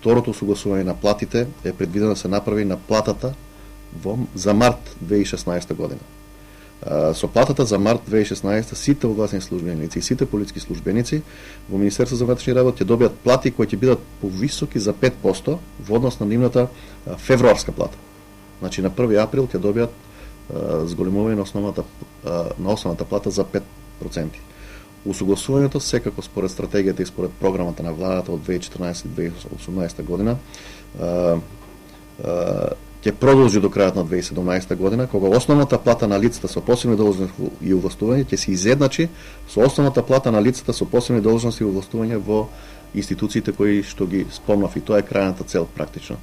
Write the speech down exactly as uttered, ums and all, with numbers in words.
второто согласување на платите е предвидено да се направи на платата во за март две илјади и шеснаесета година. Со платата за март две илјади и шеснаесета сите огласени службеници и сите полициски службеници во Министерството за внатрешни работи ќе добијат плати кои ќе бидат повисоки за пет посто во однос на нивната февруарска плата. Значи на први април ќе добијат зголемување на основната на основната плата за пет проценти. Усогласувањето секако според стратегијата и според програмата на владата од две илјади и четрнаесета до две илјади и осумнаесета година ќе продолжи до крајот на две илјади и седумнаесета година, кога основната плата на лицата со посебни должности и овластувања ќе се изедначи со основната плата на лицата со посебни должности и овластувања во институциите кои што ги спомнав, и тоа е крајната цел практично.